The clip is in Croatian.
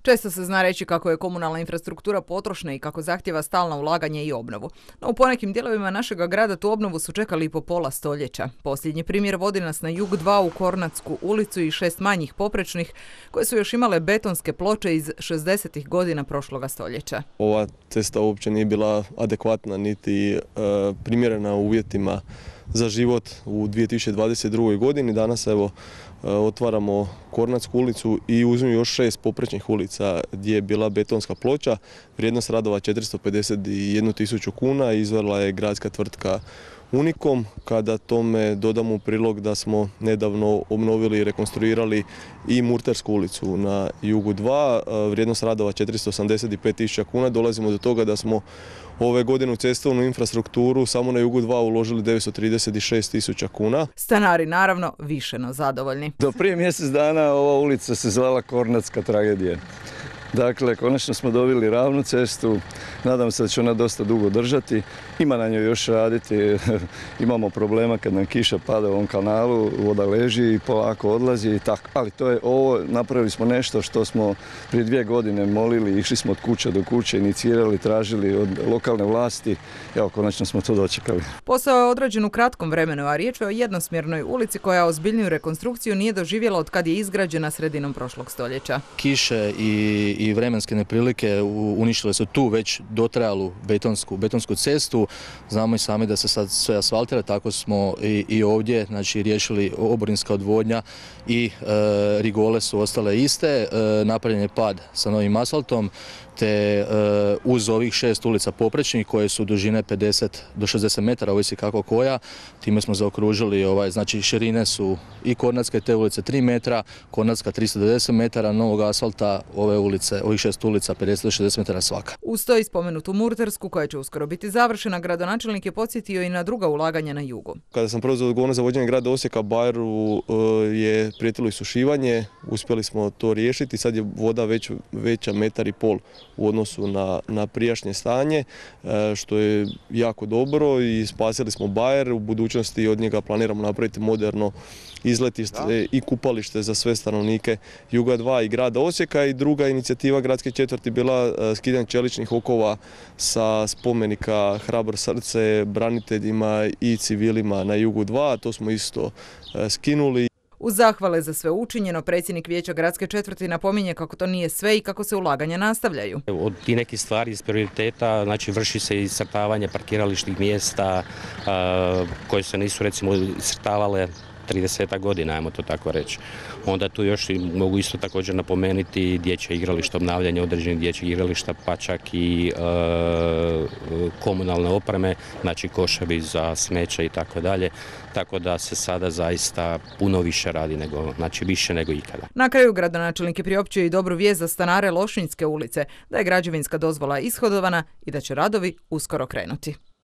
Često se zna reći kako je komunalna infrastruktura potrošna i kako zahtjeva stalno ulaganje i obnovu. No u ponekim dijelovima našega grada tu obnovu su čekali i po pola stoljeća. Posljednji primjer vodi nas na jug 2 u Kornatsku ulicu i 6 manjih poprečnih koje su još imale betonske ploče iz 60. godina prošloga stoljeća. Ova cesta uopće nije bila adekvatna niti primjerena uvjetima za život u 2022. godini. Danas evo otvaramo Kornatsku ulicu i uzmimo još 6 poprečnih ulica gdje je bila betonska ploča. Vrijednost radova 451.000 kuna, izvela je gradska tvrtka Unikom. Kada tome dodamo u prilog da smo nedavno obnovili i rekonstruirali i Murtersku ulicu na jugu 2, vrijednost radova 485.000 kuna, dolazimo do toga da smo ove godine u cestovnu infrastrukturu samo na jugu 2 uložili 936.000 kuna. Stanari naravno više no zadovoljni. Do prije mjesec dana ova ulica se zvala Kornatska tragedija. Dakle, konačno smo dobili ravnu cestu, nadam se da će ona dosta dugo držati, ima na njoj još raditi, imamo problema kad nam kiša pada u ovom kanalu, voda leži i polako odlazi i tako, ali to je ovo, napravili smo nešto što smo prije 2 godine molili, išli smo od kuće do kuće, inicirali, tražili od lokalne vlasti, evo konačno smo to dočekali. Posao je odrađen u kratkom vremenu, a riječ je o jednosmjernoj ulici koja ozbiljniju rekonstrukciju nije doživjela od kad je izgrađena sredinom prošlog stoljeća. Kiše i vremenske neprilike uništile su tu već dotrajalu betonsku cestu. Znamo i sami da se sad sve asfaltira, tako smo i ovdje riješili oborinska odvodnja i rigole su ostale iste. Napravljen je pad sa novim asfaltom, te uz ovih 6 ulica poprečnih koje su dužine 50 do 60 metara, ovisi kako koja, time smo zaokružili, znači širine su i Kornatske te ulice 3 metra, Kornatska 390 metara, novog asfalta ovih 6 ulica 50 do 60 metara svaka. Uz to i spomenutu Murtersku koja će uskoro biti završena, gradonačelnik je podsjetio i na druga ulaganja na jugu. Kada sam preuzeo odgovornost za vođenje grada Osijeka, Bajeru je prijetilo isušivanje, uspjeli smo to riješiti, sad je voda veća 1,5 metra u odnosu na prijašnje stanje, što je jako dobro i spasili smo Bajer. U budućnosti od njega planiramo napraviti moderno izletište i kupalište za sve stanovnike Juga 2 i grada Osijeka. I druga inicijativa gradske četvrti bila skidanje čeličnih okova sa spomenika Hrabro srce braniteljima i civilima na Jugu 2. To smo isto skinuli. Uz zahvale za sve učinjeno, predsjednik vijeća gradske četvrti napominje kako to nije sve i kako se ulaganja nastavljaju. Od tih nekih stvari iz prioriteta, znači vrši se iscrtavanje parkirališnih mjesta koje se nisu recimo iscrtavale 30 godina, ajmo to tako reći. Onda tu još mogu isto također napomenuti dječje igrališta, obnavljanje određenih dječjih igrališta, pa čak i komunalne opreme, znači koševi za smeće i tako dalje. Tako da se sada zaista puno više radi više nego ikada. Na kraju gradonačelnik je priopćio i dobru vijest za stanare Lošinjske ulice, da je građevinska dozvola ishodovana i da će radovi uskoro krenuti.